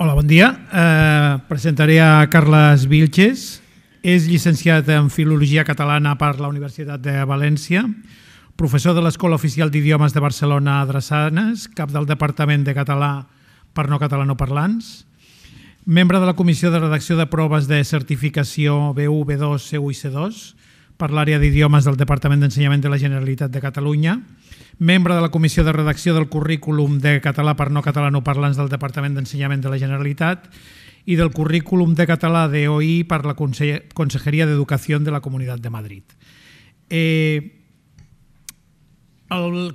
Hola, bon dia. Presentaré a Carles Vilches. És llicenciat en Filologia Catalana per la Universitat de València, professor de l'Escola Oficial d'Idiomes de Barcelona Drassanes, cap del Departament de Català per no catalanoparlants, membre de la Comissió de Redacció de Proves de Certificació B1, B2, C1 i C2 per l'àrea d'idiomes del Departament d'Ensenyament de la Generalitat de Catalunya, membre de la Comissió de Redacció del Currículum de Català per no catalanoparlants del Departament d'Ensenyament de la Generalitat i del Currículum de Català d'OI per la Consejería de Educació de la Comunitat de Madrid. El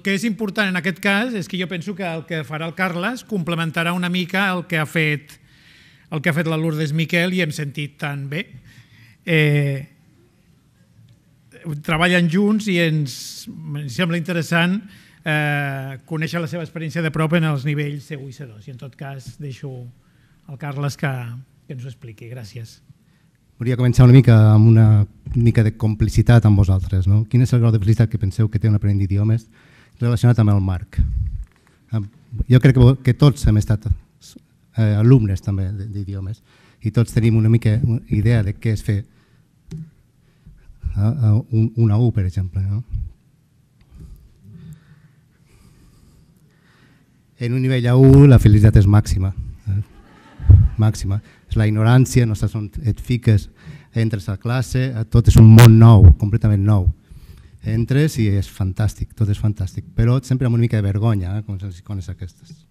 que és important en aquest cas és que jo penso que el que farà el Carles complementarà una mica el que ha fet la Lourdes Miquel i hem sentit tan bé. Treballen junts i ens sembla interessant conèixer la seva experiència de prop en els nivells C1 i C2. I en tot cas deixo al Carles que ens ho expliqui. Gràcies. Volia començar una mica amb una mica de complicitat amb vosaltres. Quin és el grau de felicitat que penseu que té un aprenent d'idiomes relacionat amb el Marc? Jo crec que tots hem estat alumnes també d'idiomes i tots tenim una mica idea de què és fer una U, per exemple. En un nivell A1 la felicitat és màxima. Màxima. És la ignorància, no saps on et fiques, entres a classe, tot és un món nou, completament nou. Entres i és fantàstic, tot és fantàstic, però sempre amb una mica de vergonya, com les icones aquestes.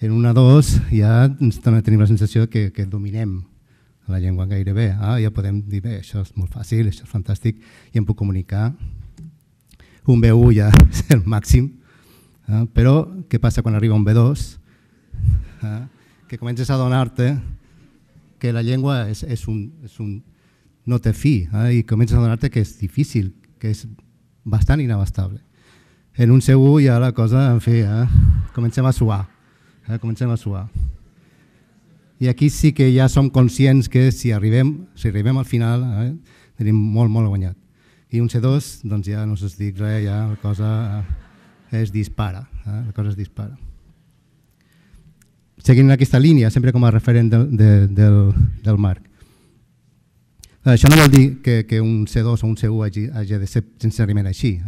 En una A2 ja tenim la sensació que dominem la llengua gairebé, ja podem dir, bé, això és molt fàcil, això és fantàstic, i em puc comunicar. Un B1 ja és el màxim, però què passa quan arriba un B2? Que comences a adonar-te que la llengua no té fi i comences a adonar-te que és difícil, que és bastant inabastable. En un C1 ja la cosa, en fi, comencem a suar. I aquí sí que ja som conscients que si arribem al final tenim molt guanyat. I un C2, doncs ja no us dic res, ja la cosa es dispara. Seguint aquesta línia, sempre com a referent del Marc. Això no vol dir que un C2 o un C1 hagi de ser necessàriament així.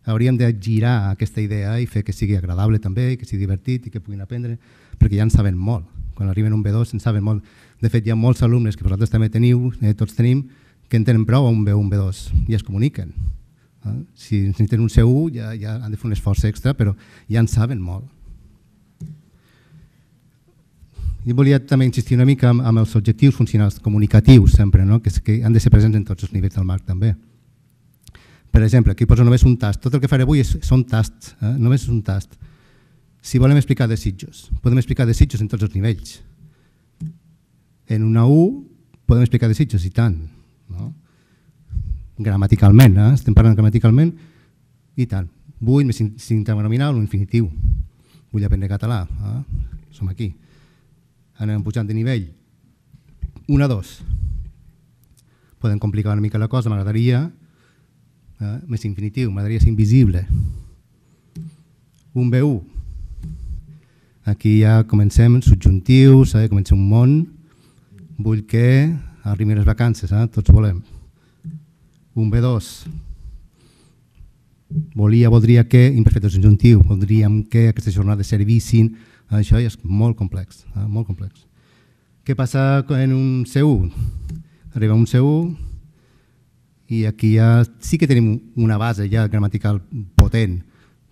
Hauríem de girar aquesta idea i fer que sigui agradable també, que sigui divertit i que puguin aprendre, perquè ja en saben molt. Quan arriben un B2 en saben molt. De fet, hi ha molts alumnes que vosaltres també teniu, tots tenim, que en tenen prou a un B1, un B2 i es comuniquen. Si necessiten un C1 ja han de fer un esforç extra, però ja en saben molt. I volia també insistir una mica amb els objectius funcionals comunicatius sempre, que han de ser presents en tots els nivells del Marc també. Per exemple, aquí poso només un tast. Tot el que faré avui són tasts, només és un tast. Si volem explicar desitjos, podem explicar desitjos en tots els nivells. En una U podem explicar desitjos, i tant. Gramaticalment, estem parlant gramaticalment, i tant. Vull més sintagma nominal o infinitiu. Vull aprendre català, som aquí. Anem pujant de nivell. 1 a 2. Podem complicar una mica la cosa, m'agradaria més infinitiu, m'agradaria ser invisible. Un B1. Aquí ja comencem subjuntius, comencem un món. Vull que arribin les vacances, tots volem. Un B2. Voldria que, imperfecte subjuntiu, voldríem que aquestes jornades servissin. Això ja és molt complex, molt complex. Què passa en un C1? Arriba un C1 i aquí ja sí que tenim una base ja gramatical potent,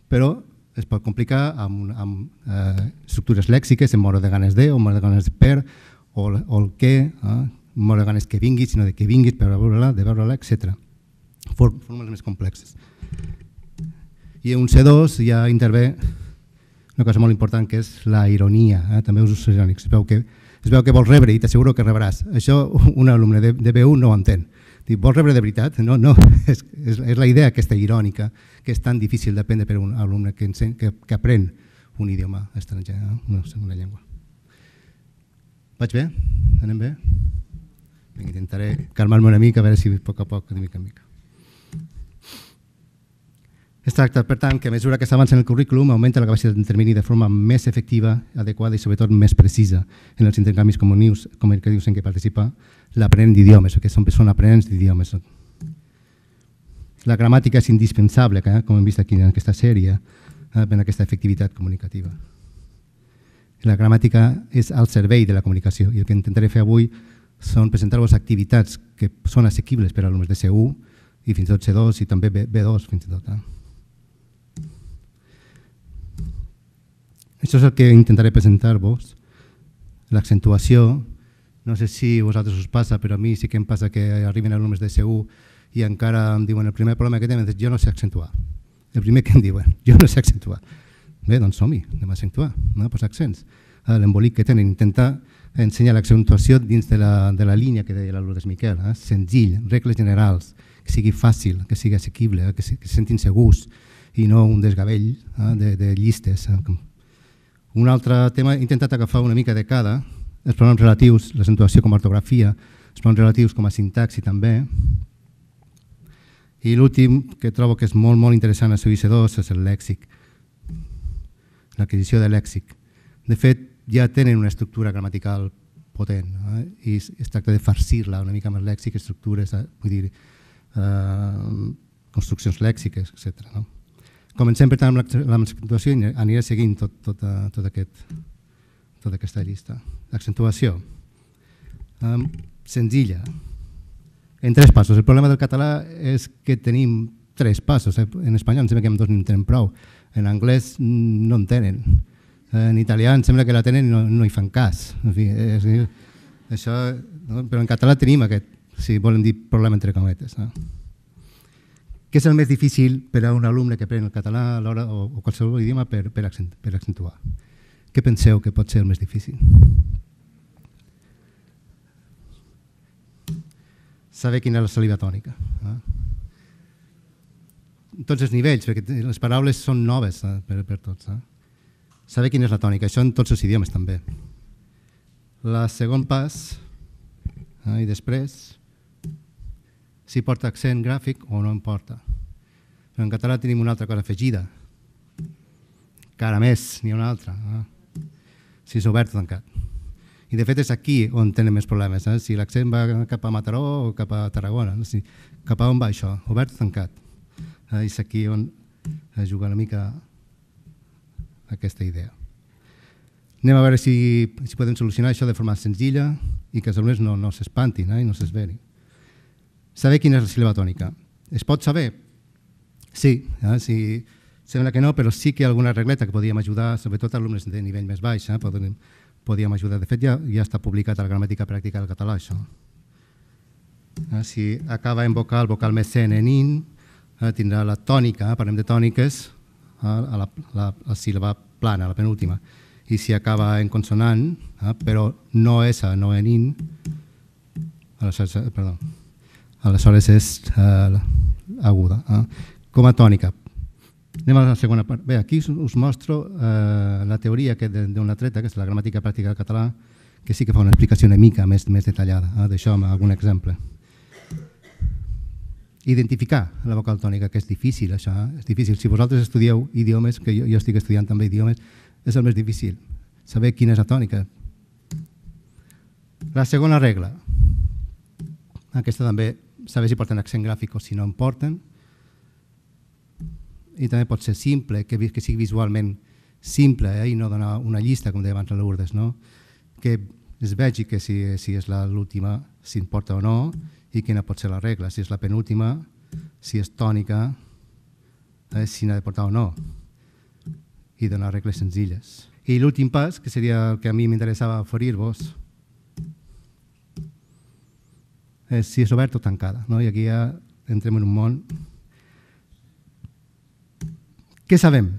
però es pot complicar amb estructures lèxiques, en moro de ganes de, o moro de ganes de per, o el que, moro de ganes que vinguis, sinó de que vinguis, per veure-la, de veure-la, etc. Fórmules més complexes. I en un C2 ja intervé una cosa molt important, que és la ironia, també usos irònics. Es veu que vols rebre i t'asseguro que rebràs. Això un alumne de B1 no ho entén. Vols rebre de veritat? No, és la idea aquesta irònica, que és tan difícil d'aprendre per un alumne que aprèn un idioma estranger, una segona llengua. Vaig bé? Anem bé? Intentaré calmar-me una mica, a veure si a poc, de mica en mica. Es tracta, per tant, que a mesura que s'avança en el currículum augmenta la capacitat d'intervenir de forma més efectiva, adequada i sobretot més precisa en els intercanvis comunicatius en què participa l'aprenent d'idiomes, que són aprenents d'idiomes. La gramàtica és indispensable, com hem vist aquí en aquesta sèrie, per aquesta efectivitat comunicativa. La gramàtica és al servei de la comunicació i el que intentaré fer avui són presentar-vos activitats que són assequibles per a alumnes de C1 i fins i tot C2 i també B2 fins i tot. Això és el que intentaré presentar-vos. L'accentuació, no sé si a vosaltres us passa, però a mi sí que em passa que arriben alumnes de C1 i encara em diuen el primer problema que tenen és jo no sé accentuar. El primer que em diuen, jo no sé accentuar. Bé, doncs som-hi, anem a accentuar, anem a posar accents. L'embolic que tenen, intentar ensenyar l'accentuació dins de la línia que deia l'Alourdes Miquel, senzill, regles generals, que sigui fàcil, que sigui assequible, que se sentin segurs i no un desgavell de llistes. Un altre tema, he intentat agafar una mica de cada, els pronoms relatius, l'accentuació com a ortografia, els pronoms relatius com a sintaxi també, i l'últim, que trobo que és molt, molt interessant a CIC2, és el lèxic, l'adquisició de lèxic. De fet, ja tenen una estructura gramatical potent i es tracta de farcir-la una mica amb el lèxic, estructures, vull dir, construccions lèxiques, etc. Comencem, per tant, amb l'accentuació i aniré seguint tota aquesta llista. L'accentuació, senzilla, en 3 passos. El problema del català és que tenim 3 passos. En espanyol em sembla que en 2 no en tenen prou. En anglès no en tenen. En italià em sembla que la tenen i no hi fan cas. En fi, això, però en català tenim aquest, si volen dir problema entre cometes. Què és el més difícil per a un alumne que aprèn el català o qualsevol idioma per accentuar? Què penseu que pot ser el més difícil? Saber quina és la saliva tònica. En tots els nivells, perquè les paraules són noves per tots. Saber quina és la tònica, això en tots els idiomes també. El segon pas, i després, si porta accent gràfic o no en porta. Però en català tenim una altra cosa afegida. Encara més, n'hi ha una altra. Si és obert o tancat. I de fet és aquí on tenen més problemes. Si l'accent va cap a Mataró o cap a Tarragona. Cap a on va això? Obert o tancat? És aquí on es juga una mica aquesta idea. Anem a veure si podem solucionar això de forma senzilla i que els alumnes no s'espantin i no s'esverin. Saber quina és la síl·laba tònica. Es pot saber? Sí, sembla que no, però sí que hi ha alguna regleta que podríem ajudar, sobretot alumnes de nivell més baix, podríem ajudar. De fet, ja està publicat a la gramàtica pràctica del català, això. Si acaba en vocal més sent en in, tindrà la tònica, parlem de tòniques, a la síl·laba plana, la penúltima. I si acaba en consonant, però no essa, no en in, aleshores és aguda. Com a tònica. Anem a la segona part. Bé, aquí us mostro la teoria d'una treta, que és la gramàtica pràctica del català, que sí que fa una explicació una mica més detallada d'això amb algun exemple. Identificar la vocal tònica, que és difícil, això. És difícil. Si vosaltres estudieu idiomes, que jo estic estudiant també idiomes, és el més difícil. Saber quina és la tònica. La segona regla. Aquesta també, saber si porten accent gràfic o si no en porten. I també pot ser simple, que sigui visualment simple i no donar una llista, com deia abans la Lourdes, que es vegi que si és l'última, si en porta o no, i quina pot ser la regla, si és la penúltima, si és tònica, si n'ha de portar o no, i donar regles senzilles. I l'últim pas, que seria el que a mi m'interessava oferir-vos, és si és obert o tancada. I aquí ja entrem en un món. Què sabem?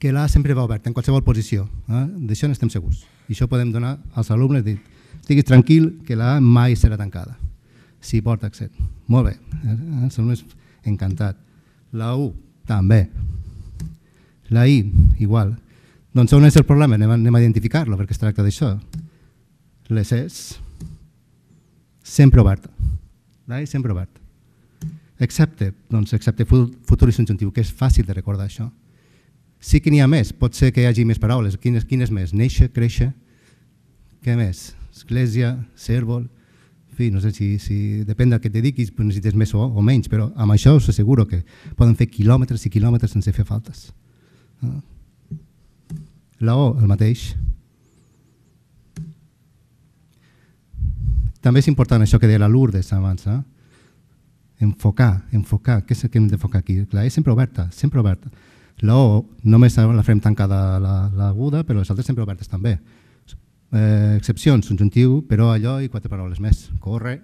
Que l'A sempre va oberta, en qualsevol posició. D'això n'estem segurs. I això podem donar als alumnes, dir, estiguis tranquil que l'A mai serà tancada, si porta accent. Molt bé, els alumnes encantat. La U, també. La I, igual. Doncs on és el problema? Anem a identificar-lo, perquè es tracta d'això. Les És sempre oberta. La I sempre oberta. excepte futur i subjuntiu, que és fàcil de recordar això. Sí que n'hi ha més, pot ser que hi hagi més paraules. Quines més? Néixer, créixer, què més? Església, cèrvol, en fi, no sé si depèn del que et dediquis, necessites més o menys, però amb això us asseguro que poden fer quilòmetres i quilòmetres sense fer faltes. La O, el mateix. També és important això que deia la Lourdes abans, enfocar, què és el que hem d'enfocar aquí? La E sempre oberta, sempre oberta. La O només la farem tancada l'aguda, però les altres sempre obertes també. Excepcions, subjuntiu, però allò i 4 paraules més. Corre,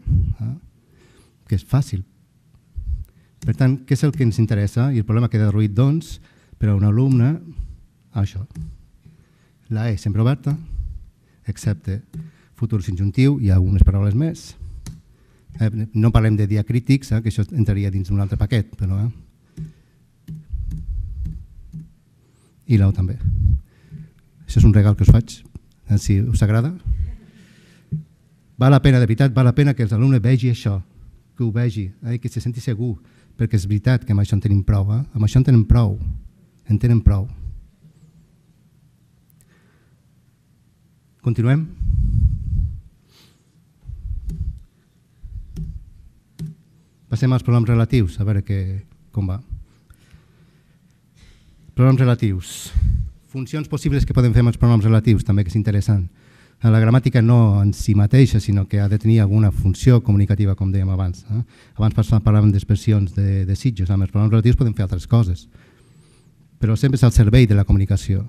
que és fàcil. Per tant, què és el que ens interessa? I el problema queda reduït, doncs, per a un alumne, això. La E sempre oberta, excepte futur subjuntiu i algunes paraules més. No parlem de diacrítics, que això entraria dins d'un altre paquet, però... I la O també. Això és un regal que us faig, si us agrada. Val la pena, de veritat, val la pena que els alumnes vegi això, que ho vegi, que se senti segur, perquè és veritat que amb això en tenim prou, amb això en tenen prou, en tenen prou. Continuem? Passem als pronoms relatius, a veure com va. Pronoms relatius. Funcions possibles que podem fer amb els pronoms relatius, també que és interessant. La gramàtica no en si mateixa, sinó que ha de tenir alguna funció comunicativa, com dèiem abans. Abans parlàvem d'expressions de desitjos, amb els pronoms relatius podem fer altres coses, però sempre és al servei de la comunicació.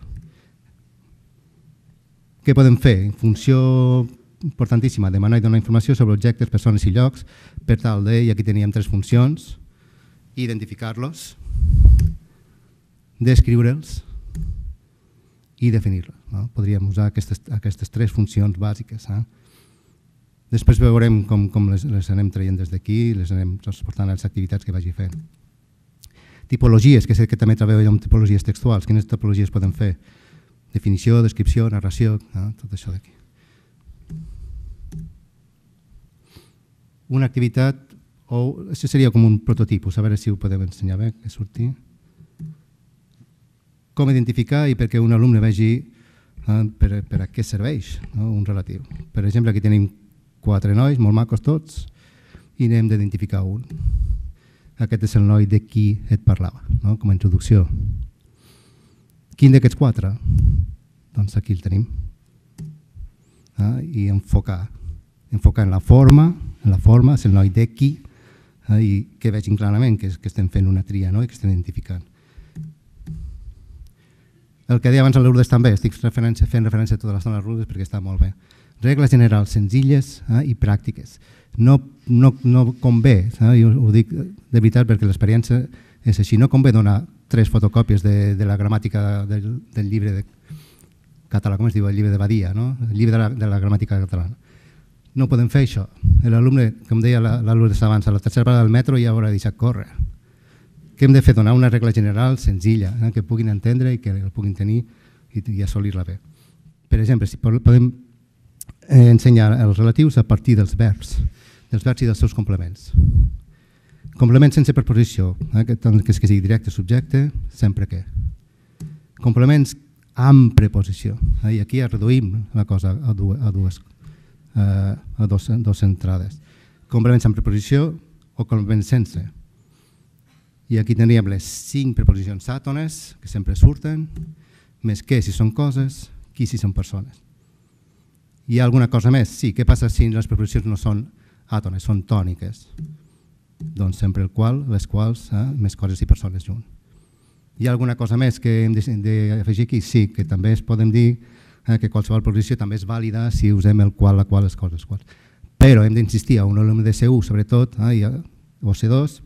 Què podem fer? Funció importantíssima, demanar i donar informació sobre objectes, persones i llocs, per tal de, i aquí teníem 3 funcions, identificar-los, descriure'ls i definir-los. Podríem usar aquestes 3 funcions bàsiques. Després veurem com les anem traient des d'aquí, les anem transportant a les activitats que vagi fent. Tipologies, que sé que també treballem amb tipologies textuals. Quines tipologies podem fer? Definició, descripció, narració, tot això d'aquí. Una activitat, o això seria com un prototipus, a veure si ho podem ensenyar bé, que surti. Com identificar i perquè un alumne vegi per a què serveix un relatiu. Per exemple, aquí tenim 4 nois, molt macos tots, i n'hem d'identificar un. Aquest és el noi de qui et parlava, com a introducció. Quin d'aquests 4? Doncs aquí el tenim. I enfocar en la forma, és el noi de qui, i que vegin clarament que estem fent una tria i que estem identificant. El que deia abans a l'Urdes també, estic fent referència a tota l'estona a l'Urdes perquè està molt bé. Regles generals senzilles i pràctiques. No convé, ho dic de veritat perquè l'experiència és així, no convé donar 3 fotocòpies de la gramàtica del llibre de català, com es diu, el llibre de Badia, el llibre de la gramàtica catalana. No podem fer això. L'alumne, com deia l'Urdes abans, a la tercera parada del metro ja haurà deixat córrer. Què hem de fer? Donar una regla general senzilla, que puguin entendre i que el puguin tenir i assolir-la bé. Per exemple, si podem ensenyar els relatius a partir dels verbs i dels seus complements. Complements sense preposició, que sigui directe, subjecte, sempre que. Complements amb preposició. I aquí reduïm la cosa a dues entrades. Complements amb preposició o complements sense. I aquí teníem les 5 preposicions àtones, que sempre surten, més què si són coses, qui si són persones. Hi ha alguna cosa més? Sí, què passa si les preposicions no són àtones, són tòniques? Doncs sempre el qual, les quals, més coses i persones junt. Hi ha alguna cosa més que hem d'afegir aquí? Sí, que també es podem dir que qualsevol preposició també és vàlida si usem el qual, la qual, les coses, les quals. Però hem d'insistir a un alumne de C1, sobretot, o C2,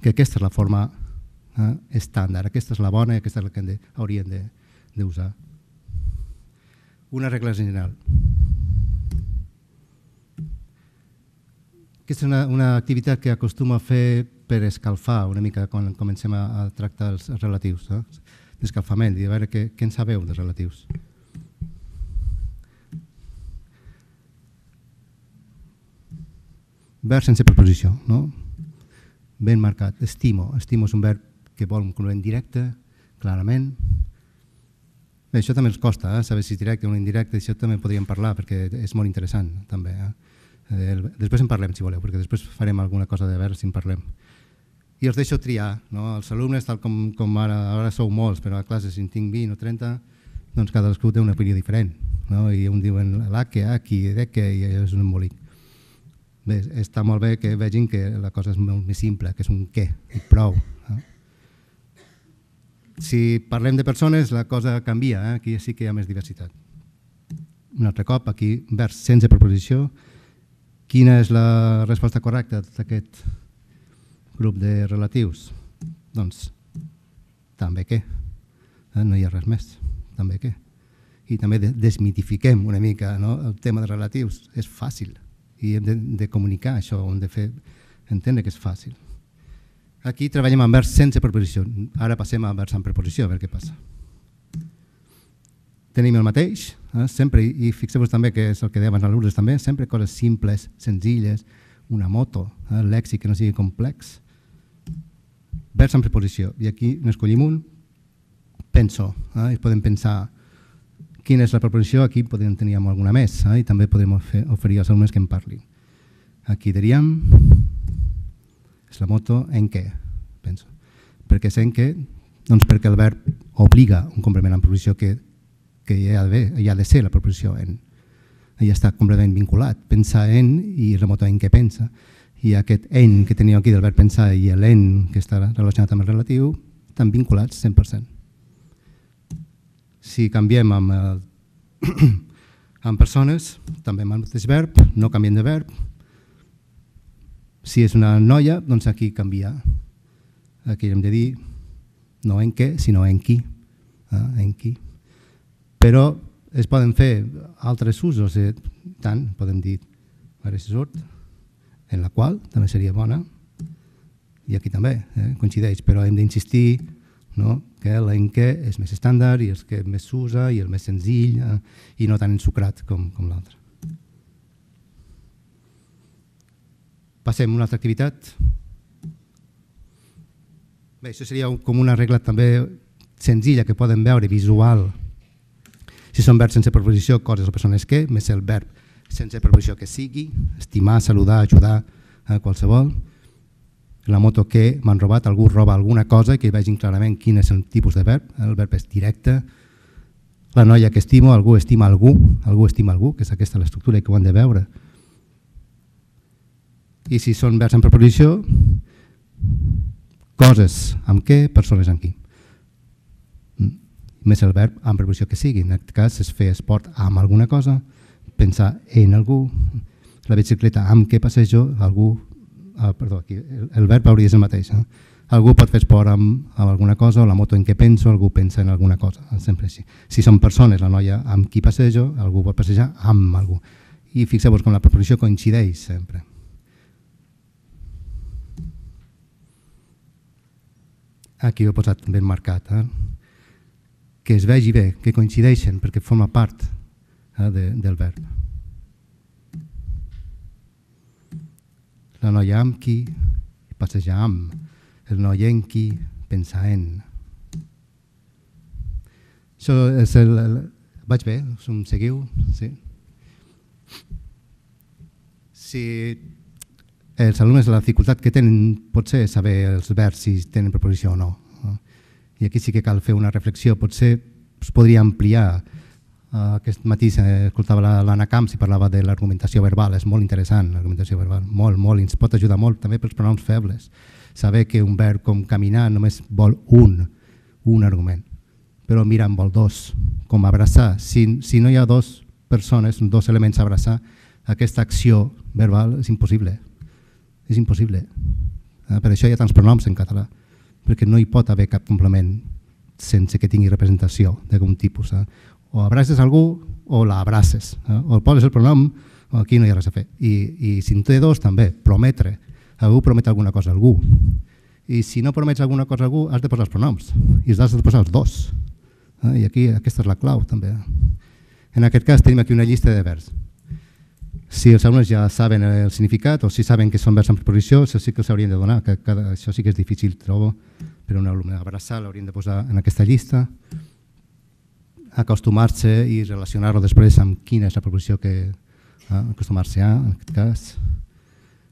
que aquesta és la forma estàndard, aquesta és la bona i aquesta és la que haurien d'usar. Una regla general. Aquesta és una activitat que acostumo a fer per escalfar una mica quan comencem a tractar els relatius, d'escalfament, i a veure què en sabeu dels relatius. Vers sense preposició, no? ben marcat. Estimo. Estimo és un verb que vol un complement directe, clarament. Bé, això també ens costa, saber si és directe o indirecte, això també podríem parlar perquè és molt interessant també. Després en parlem si voleu, perquè després farem alguna cosa de veure si en parlem. I els deixo triar, els alumnes, tal com ara sou molts, però a classe si en tinc 20 o 30, doncs cadascú té una opinió diferent, i un diuen l'aque, aquí, deque, i és un embolic. Bé, està molt bé que vegin que la cosa és molt més simple, que és un què, i prou. Si parlem de persones, la cosa canvia, aquí sí que hi ha més diversitat. Un altre cop, aquí, vers sense preposició. Quina és la resposta correcta d'aquest grup de relatius? Doncs, també què? No hi ha res més, també què? I també desmitifiquem una mica el tema de relatius. És fàcil i hem de comunicar això, hem de fer entendre que és fàcil. Aquí treballem amb vers sense preposició. Ara passem a vers amb preposició, a veure què passa. Tenim el mateix, sempre, i fixeu-vos també que és el que deia abans l'Urdes també, sempre coses simples, senzilles, una moto, lèxic que no sigui complex. Vers amb preposició, i aquí n'escollim un, penso, i podem pensar quina és la preposició, aquí podem tenir alguna més, i també podem oferir als alumnes que en parlin. Aquí diríem, és la moto en què, penso. Per què és en què? Doncs perquè el verb obliga un complement amb preposició que hi ha de ser la preposició en. Ja està completament vinculat. Pensar en i la moto en què pensa. I aquest en que teníem aquí del verb pensar i l'en que està relacionat amb el relatiu estan vinculats 100%. Si canviem amb persones, també amb el mateix verb, no canviem de verb. Si és una noia, doncs aquí canvia. Aquí hem de dir no en què, sinó en qui. En qui. Però es poden fer altres usos, tant, podem dir, a veure si surt, en la qual també seria bona, i aquí també coincideix, però hem d'insistir que l'en què és més estàndard i el que més s'usa i el més senzill i no tan ensucrat com l'altre. Passem a una altra activitat. Bé, això seria com una regla també senzilla que poden veure, visual. Si són verbs sense preposició, coses o persones que, més el verb sense preposició que sigui, estimar, saludar, ajudar, qualsevol. La moto que m'han robat, algú roba alguna cosa, que vegin clarament quin és el tipus de verb. El verb és directe. La noia que estimo, algú estima algú estima algú, que és aquesta l'estructura que ho han de veure. I si són verbs en preposició, coses amb què, persones amb qui. Més el verb amb preposició que sigui. En aquest cas és fer esport amb alguna cosa, pensar en algú, la bicicleta amb què passejo, algú, perdó, aquí el verb hauria de ser el mateix. Algú pot fer esport amb alguna cosa, o la moto en què penso, algú pensa en alguna cosa, sempre així. Si són persones, la noia amb qui passejo, algú pot passejar amb algú. I fixeu-vos com la preposició coincideix sempre. Aquí ho he posat ben marcat, que es vegi bé, que coincideixen, perquè forma part del verb. La noia amb qui passeja amb, el noi en qui pensa en. Això és el... Vaig bé? Em seguiu? Sí. Si els alumnes la dificultat que tenen pot ser saber els verbs si tenen preposició o no. I aquí sí que cal fer una reflexió, potser es podria ampliar. Aquest matí escoltava l'Anna Camps i parlava de l'argumentació verbal, és molt interessant l'argumentació verbal, molt, ens pot ajudar molt també pels pronoms febles. Saber que un verb com caminar només vol un argument, però mira, en vol dos, com abraçar. Si no hi ha dues persones, dos elements a abraçar, aquesta acció verbal és impossible. És impossible. Per això hi ha tants pronoms en català, perquè no hi pot haver cap complement sense que tingui representació d'algun tipus. O abraces algú o l'abraces. O poses el pronom o aquí no hi ha res a fer. I si en té dos també, prometre. Algú promet alguna cosa a algú. I si no promets alguna cosa a algú has de posar els pronoms i els has de posar els dos. I aquí aquesta és la clau també. En aquest cas tenim aquí una llista de verbs. Si els alumnes ja saben el significat o si saben que són verbs amb preposició, això sí que els haurien de donar, això sí que és difícil, trobo, per a un alumne. Abraçar l'haurien de posar en aquesta llista, acostumar-se i relacionar-ho després amb quina és la preposició que acostumar-se a, en aquest cas,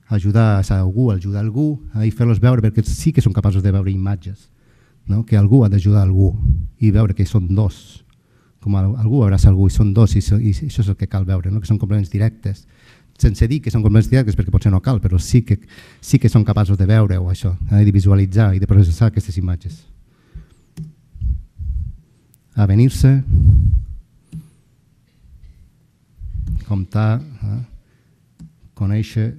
ajudar a algú i fer-los veure, perquè sí que són capaços de veure imatges, que algú ha d'ajudar algú i veure que són dos, com algú abraça algú i són dos, i això és el que cal veure, que són complements directes, sense dir que són complements directes perquè potser no cal, però sí que són capaços de veure-ho, això, de visualitzar i de processar aquestes imatges. Avenir-se, comptar, conèixer,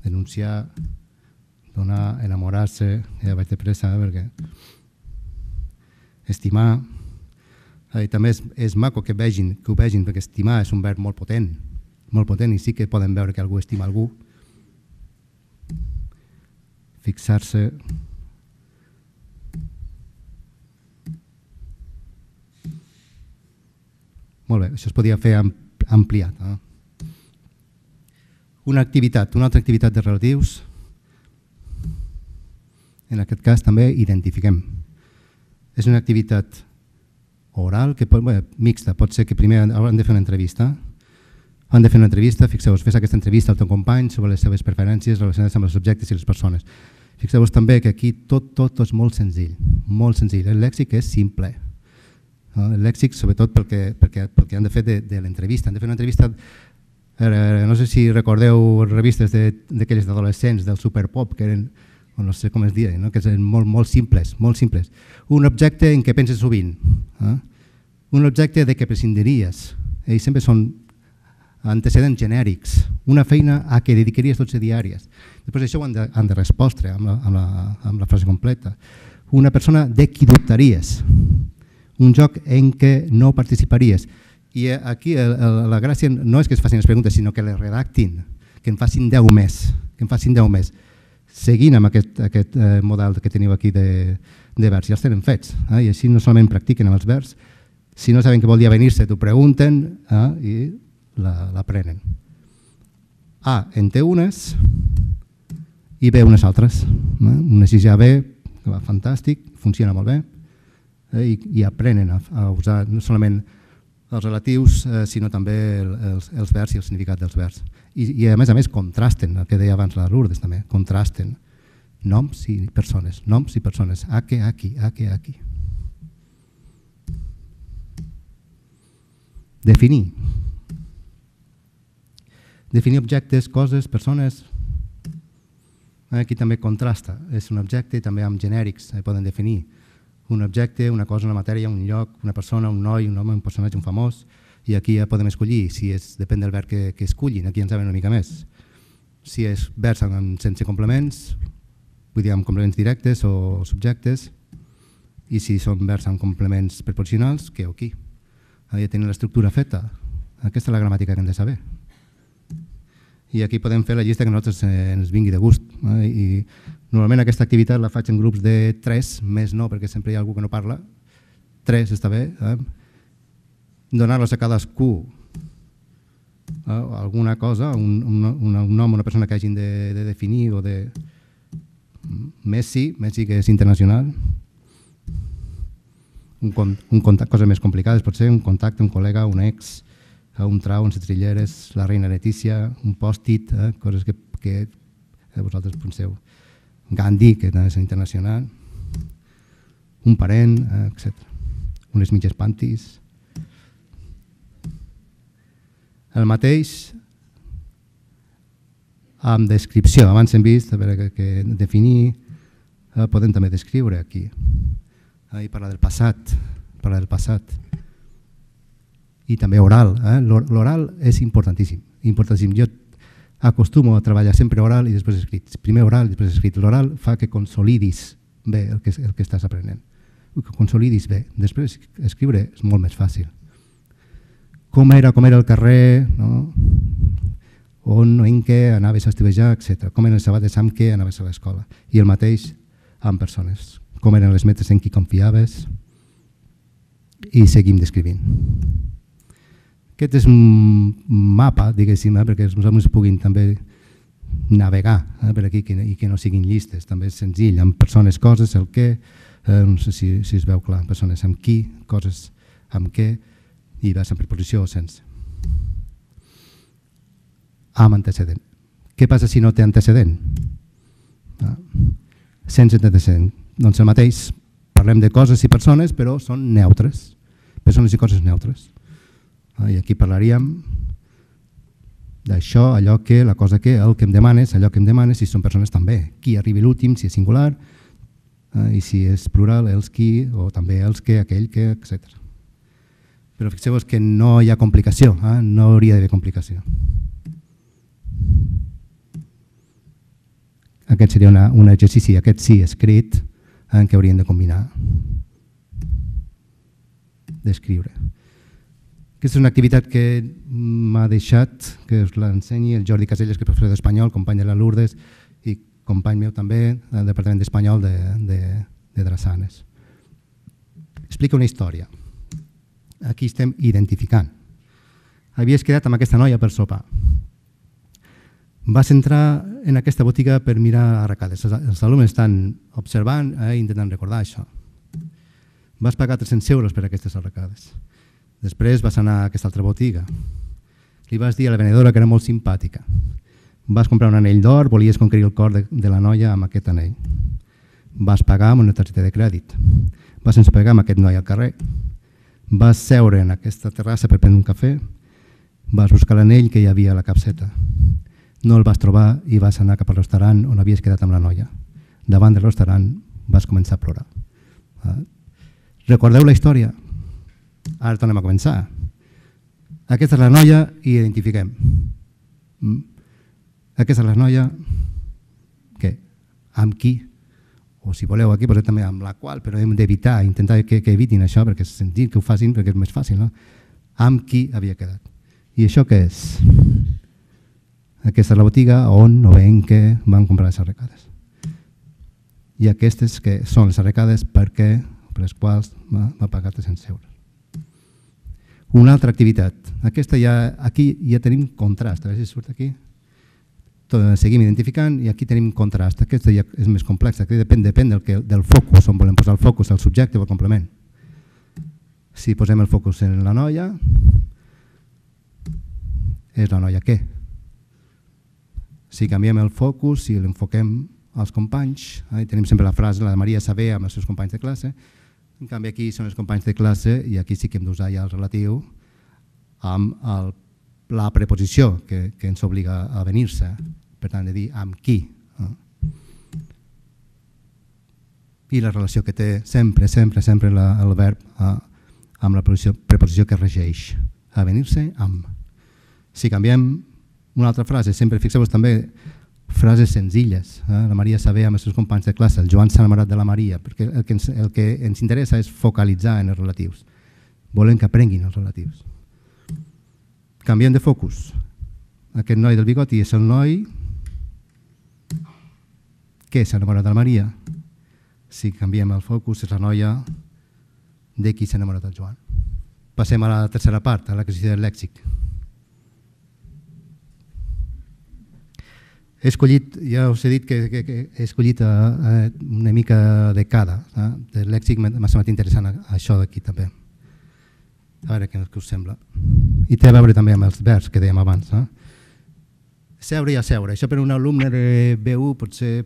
denunciar, donar, enamorar-se, ja vaig de pressa perquè estimar, i també és maco que ho vegin, perquè estimar és un verb molt potent i sí que poden veure que algú estima algú. Fixar-se, molt bé, això es podia fer ampliat. Una altra activitat de relatius, en aquest cas també identifiquem. És una activitat oral, mixta, pot ser que primer han de fer una entrevista. Han de fer una entrevista, fixeu-vos, fes aquesta entrevista al teu company sobre les seves preferències relacionades amb els objectes i les persones. Fixeu-vos també que aquí tot és molt senzill, el lèxic és simple. El lèxic, sobretot perquè han de fer de l'entrevista. Han de fer una entrevista, no sé si recordeu revistes d'aquelles d'adolescents, del Superpop, que eren, no sé com es diuen, que eren molt simples. Un objecte en què penses sovint, un objecte de què prescindiries, ells sempre són antecedents genèrics, una feina a què dedicaries 12 diàries. Després això ho han de respondre amb la frase completa. Una persona de qui dubtaries, un joc en què no participaries. I aquí la gràcia no és que es facin les preguntes, sinó que les redactin, que en facin 10 més, seguint amb aquest model que teniu aquí de verbs. Ja els tenen fets, i així no solament practiquen amb els verbs, si no saben què vol dir avenir-se, t'ho pregunten i l'aprenen. A en té unes i B unes altres. Una 6A-B, que va fantàstic, funciona molt bé, i aprenen a usar no solament els relatius, sinó també els verbs i el significat dels verbs. I a més contrasten, el que deia abans la Lourdes també, contrasten noms i persones, a que aquí. Definir objectes, coses, persones. Aquí també contrasta, és un objecte i també amb genèrics poden definir un objecte, una cosa, una matèria, un lloc, una persona, un noi, un home, un personatge, un famós, i aquí ja podem escollir, depèn del verb que escollin, aquí en saben una mica més. Si és verbs sense complements, vull dir amb complements directes o subjectes, i si són verbs amb complements preposicionals, que o qui. Ja tenen l'estructura feta, aquesta és la gramàtica que hem de saber. I aquí podem fer la llista que a nosaltres ens vingui de gust. I normalment aquesta activitat la faig en grups de 3, més no, perquè sempre hi ha algú que no parla. 3 està bé. Donar-los a cadascú alguna cosa, un nom, una persona que hagin de definir o de... Messi, que és internacional. Un contacte, coses més complicades, pot ser un contacte, un col·lega, un ex, un trau, un setrilleres, la reina Letícia, un pòstit, coses que vosaltres penseu. Gandhi, que també és internacional, un parent, etc. Unes mitges pantis. El mateix amb descripció. Abans hem vist que definir, podem també descriure aquí. I parlar del passat. I també oral. L'oral és importantíssim. Jo acostumo a treballar sempre oral i després escrit. Primer oral i després escrit. L'oral fa que consolidis bé el que estàs aprenent. Que consolidis bé. Després escriure és molt més fàcil. Com era el carrer, on o en què anaves a estivejar, etc. Com eren les sabates amb què anaves a l'escola. I el mateix amb persones. Com eren les metres en qui confiaves. I seguim descrivint. Aquest és un mapa, diguéssim, perquè els alumnes puguin també navegar per aquí i que no siguin llistes. També és senzill, amb persones, coses, el què, no sé si es veu clar, persones amb qui, coses amb què, i vas en preposició o sense. Amb antecedent. Què passa si no té antecedent? Sense antecedent. Doncs el mateix, parlem de coses i persones, però són neutres. Persones i coses neutres. I aquí parlaríem d'això, allò que, la cosa que, el que em demanes, allò que em demanes, si són persones també. Qui arribi l'últim, si és singular, i si és plural, els qui, o també els que, aquell que, etc. Però fixeu-vos que no hi ha complicació, no hauria d'haver complicació. Aquest seria un exercici, aquest sí escrit, en què hauríem de combinar, d'escriure. Aquesta és una activitat que m'ha deixat, que us l'ensenyi el Jordi Caselles, que és professor d'espanyol, company de la Lourdes i company meu també del Departament d'Espanyol de Drassanes. Explica una història. Aquí estem identificant. Havies quedat amb aquesta noia per sopar. Vas entrar en aquesta botiga per mirar arracades. Els alumnes estan observant i intentant recordar això. Vas pagar 300 euros per aquestes arracades. Després vas anar a aquesta altra botiga. Li vas dir a la venedora que era molt simpàtica. Vas comprar un anell d'or, volies conquerir el cor de la noia amb aquest anell. Vas pagar amb una targeta de crèdit. Vas sense pagar amb aquest noi al carrer. Vas seure en aquesta terrassa per prendre un cafè. Vas buscar l'anell que hi havia a la capseta. No el vas trobar i vas anar cap al restaurant on havies quedat amb la noia. Davant del restaurant vas començar a plorar. Recordeu la història? Ara tornem a començar. Aquesta és la noia i identifiquem. Aquesta és la noia què? Amb qui? O si voleu aquí posem també amb la qual, però hem d'evitar, intentar que evitin això, perquè és sentit que ho facin, perquè és més fàcil, no? Amb qui havia quedat. I això què és? Aquesta és la botiga on o en què van comprar les arracades. I aquestes que són les arracades per les quals va pagar 300 euros. Una altra activitat. Aquí ja tenim contrast. A veure si surt aquí. Seguim identificant i aquí tenim contrast. Aquesta ja és més complexa. Depèn del focus, on volem posar el focus, el subjecte o el complement. Si posem el focus en la noia, és la noia què? Si canviem el focus i l'enfoquem als companys, tenim sempre la frase, la de Maria Saber amb els seus companys de classe. En canvi aquí són els companys de classe i aquí sí que hem d'usar ja el relatiu amb la preposició que ens obliga a venir-se, per tant de dir amb qui. I la relació que té sempre el verb amb la preposició que regeix, a venir-se amb. Si canviem una altra frase, sempre fixeu-vos també frases senzilles. La Maria Saber amb els seus companys de classe, el Joan s'ha enamorat de la Maria, perquè el que ens interessa és focalitzar en els relatius. Volem que aprenguin els relatius. Canviem de focus. Aquest noi del bigoti és el noi que s'ha enamorat de la Maria. Si canviem el focus és la noia de qui s'ha enamorat el Joan. Passem a la tercera part, a l'exercici del lèxic. He escollit, ja us he dit que he escollit una mica de cada. Del lèxic m'ha semblat interessant això d'aquí també. A veure què us sembla. I té a veure també amb els verbs que dèiem abans. Seure i asseure. Això per un alumne de B1 potser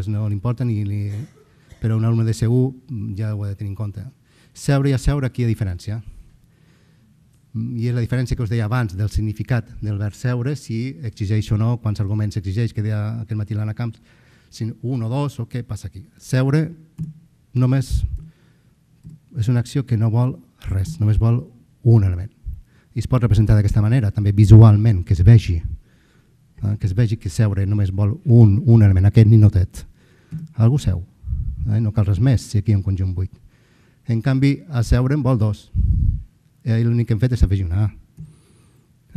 no li importa, però un alumne de C1 ja ho ha de tenir en compte. Seure i asseure, aquí hi ha diferència. I és la diferència que us deia abans del significat del verb seure, si exigeix o no, quants arguments exigeix, que deia aquest matí l'Anna Camps, si un o dos o què passa aquí. Seure només és una acció que no vol res, només vol un element. I es pot representar d'aquesta manera, també visualment, que es vegi que seure només vol un element, aquest ninotet. Algú seu, no cal res més si aquí hi ha un conjunt buit. En canvi, asseure en vol dos. L'únic que hem fet és afegir una A.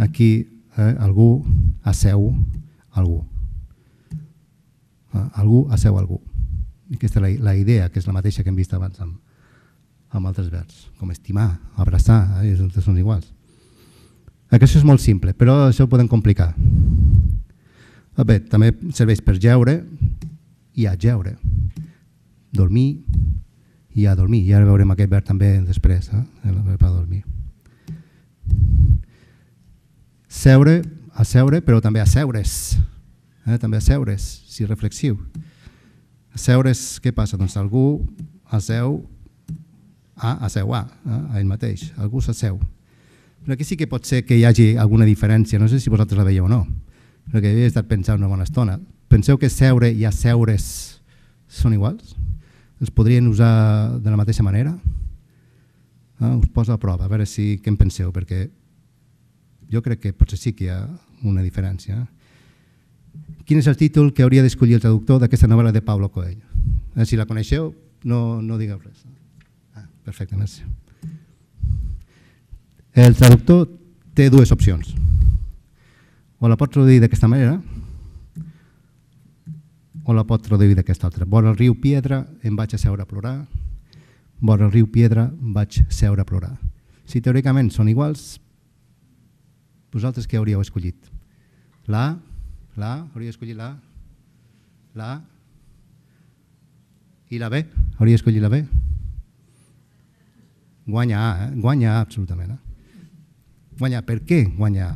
Aquí algú asseu algú. Algú asseu algú. I aquesta és la idea, que és la mateixa que hem vist abans amb altres verbs, com estimar, abraçar, són iguals. Això és molt simple, però això ho podem complicar. Bé, també serveix per jeure i a jeure. Dormir i a dormir. I ara veurem aquest verb també després, el verb a dormir. Seure, asseure, però també asseure's. També asseure's, si reflexiu. Asseure's, què passa? Doncs algú asseu a ell mateix. Algú s'asseu. Però aquí sí que pot ser que hi hagi alguna diferència, no sé si vosaltres la veieu o no, perquè he estat pensant una bona estona. Penseu que seure i asseure's són iguals? Els podrien usar de la mateixa manera? Us poso a prova, a veure què en penseu, perquè jo crec que potser sí que hi ha una diferència. Quin és el títol que hauria d'escollir el traductor d'aquesta novel·la de Paulo Coelho? Si la coneixeu, no digueu res. Perfecte, merci. El traductor té dues opcions. O la pot traduir d'aquesta manera o la pot traduir d'aquesta altra. Vora el riu Piedra em vaig asseure a plorar. Vora el riu Piedra vaig seure a plorar. Si teòricament són iguals, vosaltres què hauríeu escollit? Hauríeu escollit la i la B? Hauríeu escollit la B? Guanya A, guanya A absolutament. Guanyar, per què guanyar?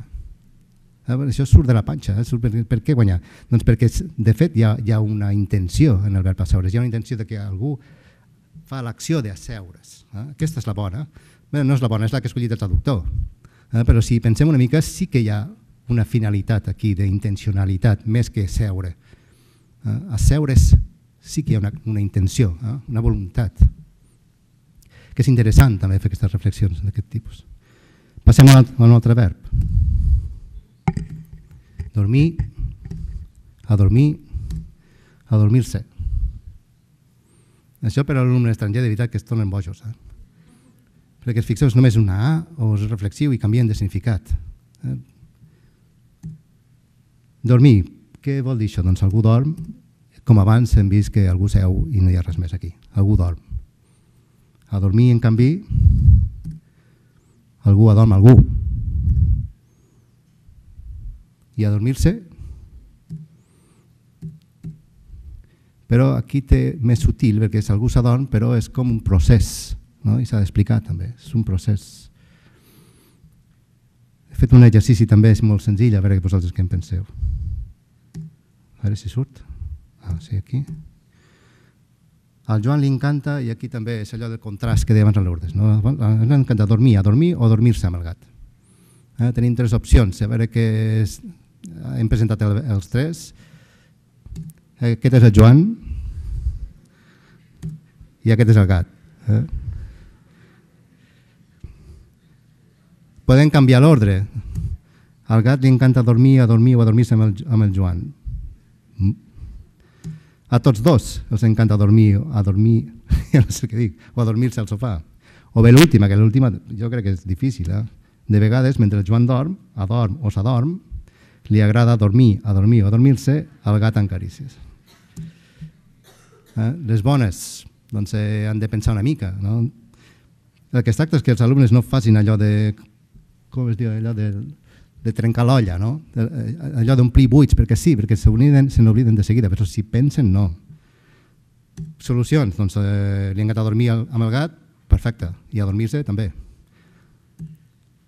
Això surt de la panxa. Per què guanyar? Doncs perquè, de fet, hi ha una intenció en el verb asseure's. Hi ha una intenció que algú fa l'acció d'asseure's. Aquesta és la bona. Bé, no és la bona, és la que ha escollit el traductor. Però si pensem una mica, sí que hi ha una finalitat aquí d'intencionalitat, més que seure. Asseure's sí que hi ha una intenció, una voluntat. Que és interessant també fer aquestes reflexions d'aquest tipus. Passem a un altre verb. Dormir, adormir-se. Això per a l'alumne estranger de veritat que es tornen bojos. Perquè fixeu, és només una A o és reflexiu i canvien de significat. Dormir, què vol dir això? Doncs algú dorm, com abans hem vist que algú seu i no hi ha res més aquí. Algú dorm. A dormir, en canvi, algú adorm algú. I a dormir-se, però aquí té més sutil, perquè és algú s'adorm, però és com un procés, i s'ha d'explicar també, és un procés. He fet un exercici també, és molt senzill, a veure vosaltres què en penseu. A veure si surt. Sí, aquí. Al Joan li encanta, i aquí també és allò del contrast que deia abans a l'Urdes, li encanta dormir o dormir-se amb el gat. Tenim tres opcions, a veure què és. Hem presentat els tres. Aquest és el Joan i aquest és el gat. Podem canviar l'ordre. Al gat li encanta dormir o adormir-se amb el Joan. A tots dos els encanta dormir, ja no sé què dic, o adormir-se al sofà. O bé l'última, que l'última jo crec que és difícil. De vegades, mentre el Joan adorm o s'adorm, li agrada dormir o adormir-se al gat en carícies. Les bones doncs, han de pensar una mica. El que es tracta és que els alumnes no facin allò de, com es diu, allò de trencar l'olla, allò d'omplir buits, perquè sí, perquè se n'obliden de seguida, però si pensen, no. Solucions, doncs li encanta dormir amb el gat, perfecte, i adormir-se també.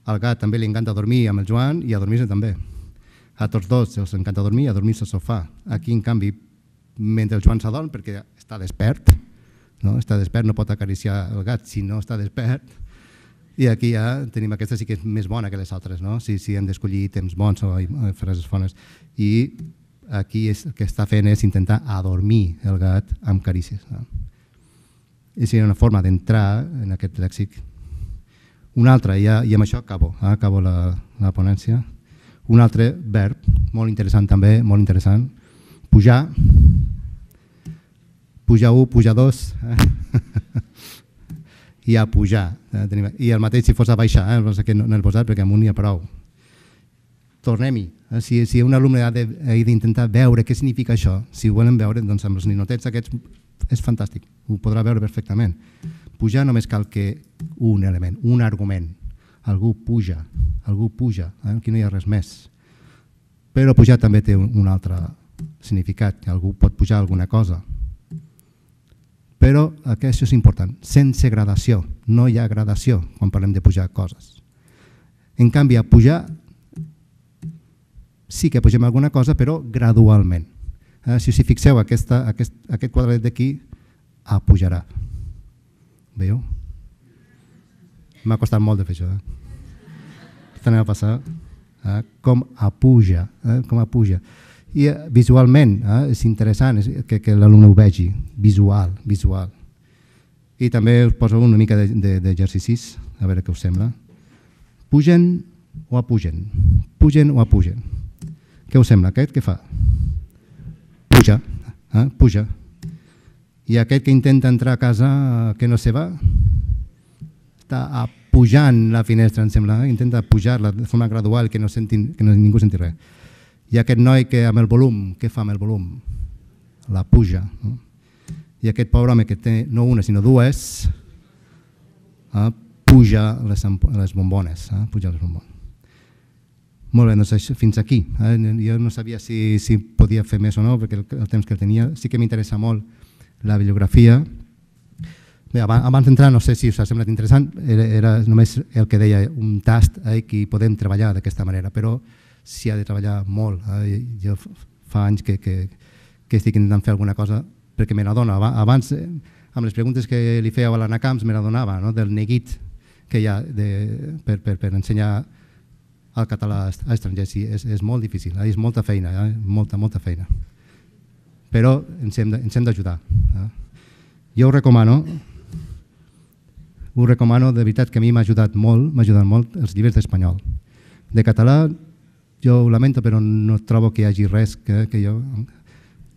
Al gat també li encanta dormir amb el Joan i adormir-se també. A tots dos els encanta dormir i adormir-se al sofà. Aquí, en canvi, mentre el Joan s'adorm, perquè està despert, no pot acariciar el gat si no està despert, i aquí ja tenim aquesta sí que és més bona que les altres, si hem d'escollir temps bons o frases bones. I aquí el que està fent és intentar adormir el gat amb carícies. I seria una forma d'entrar en aquest lèxic. Una altra, i amb això acabo la ponència, un altre verb, molt interessant també, molt interessant, pujar, pujar 1, pujar 2, i a pujar. I el mateix si fos a baixar, no l'he posat perquè amunt n'hi ha prou. Tornem-hi. Si un alumne ha d'intentar veure què significa això, si ho volen veure, doncs amb els ninotets aquests és fantàstic, ho podrà veure perfectament. Pujar només cal que un element, un argument. algú puja, aquí no hi ha res més. Però pujar també té un altre significat, que algú pot pujar alguna cosa. Però això és important, sense gradació, no hi ha gradació quan parlem de pujar coses. En canvi, a pujar sí que pugem alguna cosa, però gradualment. Si us hi fixeu, aquest quadret d'aquí pujarà. Veieu? M'ha costat molt de fer això. Anem a passar com puja. I visualment és interessant que l'alumne ho vegi, visual. I també us poso una mica d'exercicis, a veure què us sembla. Pugen o apugen? Pugen o apugen? Què us sembla? Aquest què fa? Puja. I aquest que intenta entrar a casa, que no se va, està pujant la finestra, em sembla, intenta pujar-la de forma gradual, que ningú senti res. I aquest noi que amb el volum, què fa amb el volum? La puja. I aquest pobre home que té no una sinó dues, puja les bombones. Molt bé, doncs fins aquí. Jo no sabia si podia fer més o no, perquè el temps que tenia. Sí que m'interessa molt la bibliografia. Bé, abans d'entrar, no sé si us ha semblat interessant, era només el que deia un tast que podem treballar d'aquesta manera, però s'hi ha de treballar molt. Jo fa anys que estic intentant fer alguna cosa perquè me n'adono. Abans, amb les preguntes que li fèieu a l'Anna Camps, me n'adonava del neguit que hi ha per ensenyar el català a estrangers. És molt difícil, és molta feina, molta feina. Però ens hem d'ajudar. Jo ho recomano, de veritat que a mi m'ha ajudat molt els llibres d'espanyol. De català, jo ho lamento, però no trobo que hi hagi res que jo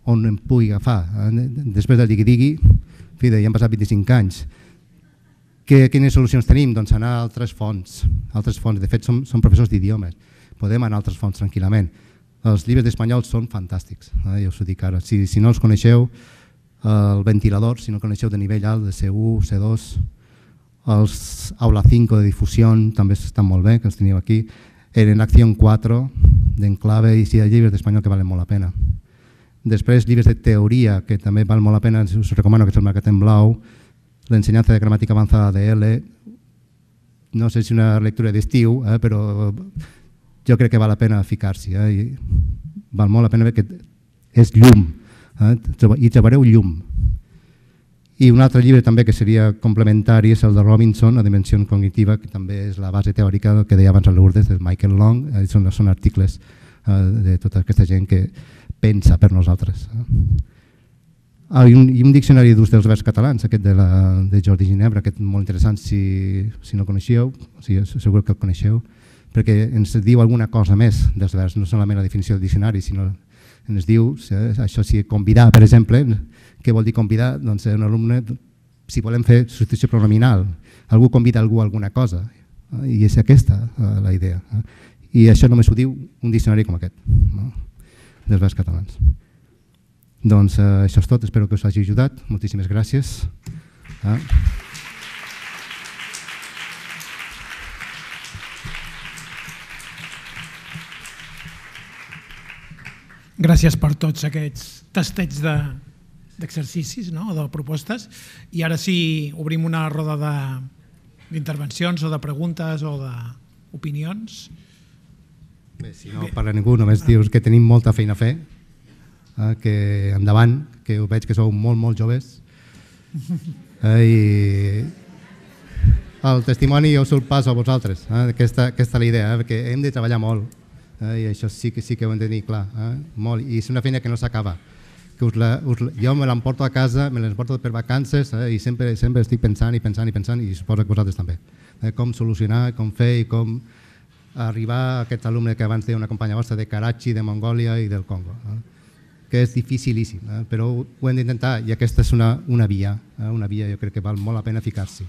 on em pugui agafar. Després del digui-digui, ja han passat 25 anys. Quines solucions tenim? Doncs anar a altres fonts. De fet, som professors d'idiomes. Podem anar a altres fonts tranquil·lament. Els llibres d'espanyol són fantàstics, ja us ho dic ara. Si no els coneixeu, el ventilador, si no el coneixeu de nivell alt, de C1, C2, els Aula 5 de difusió també estan molt bé, que els teniu aquí. En Acció 4, d'Enclave, i hi ha llibres d'espanyol que valen molt la pena. Després, llibres de teoria, que també valen molt la pena, us recomano, que és el Mercat en Blau, l'ensenyança de gramàtica avançada de L, no sé si una lectura d'estiu, però jo crec que val la pena ficar-s'hi. Val molt la pena perquè és llum, hi trobareu llum. I un altre llibre també que seria complementari és el de Robinson, La dimensió cognitiva, que també és la base teòrica del que deia abans a Lourdes, de Michael Long. Són articles de tota aquesta gent que pensa per nosaltres. I un diccionari d'ús dels verbs catalans, aquest de Jordi Ginebra, aquest molt interessant, si no el coneixeu, segur que el coneixeu, perquè ens diu alguna cosa més dels verbs, no solament la definició del diccionari, sinó ens diu, això sí, convidar, per exemple, què vol dir convidar? Doncs un alumne, si volem fer substitució pronominal, algú convida algú a alguna cosa, i és aquesta la idea. I això només ho diu un diccionari com aquest, dels verbs catalans. Doncs això és tot, espero que us hagi ajudat. Moltíssimes gràcies. Gràcies per tots aquests tastets d'exercicis, o de propostes. I ara sí, obrim una roda d'intervencions o de preguntes o d'opinions. Bé, si no parla ningú, només dius que tenim molta feina a fer, que endavant, que ho veig que sou molt joves. I el testimoni jo us el passo a vosaltres, aquesta és la idea, perquè hem de treballar molt. I això sí que ho hem de tenir clar, molt, i és una feina que no s'acaba. Jo me l'emporto a casa, me l'emporto per vacances i sempre estic pensant i suposo que vosaltres també. Com solucionar, com fer i com arribar a aquest alumne que abans deia una companya vostra de Karachi, de Mongòlia i del Congo, que és dificilíssim, però ho hem d'intentar i aquesta és una via, jo crec que val molt la pena ficar-s'hi.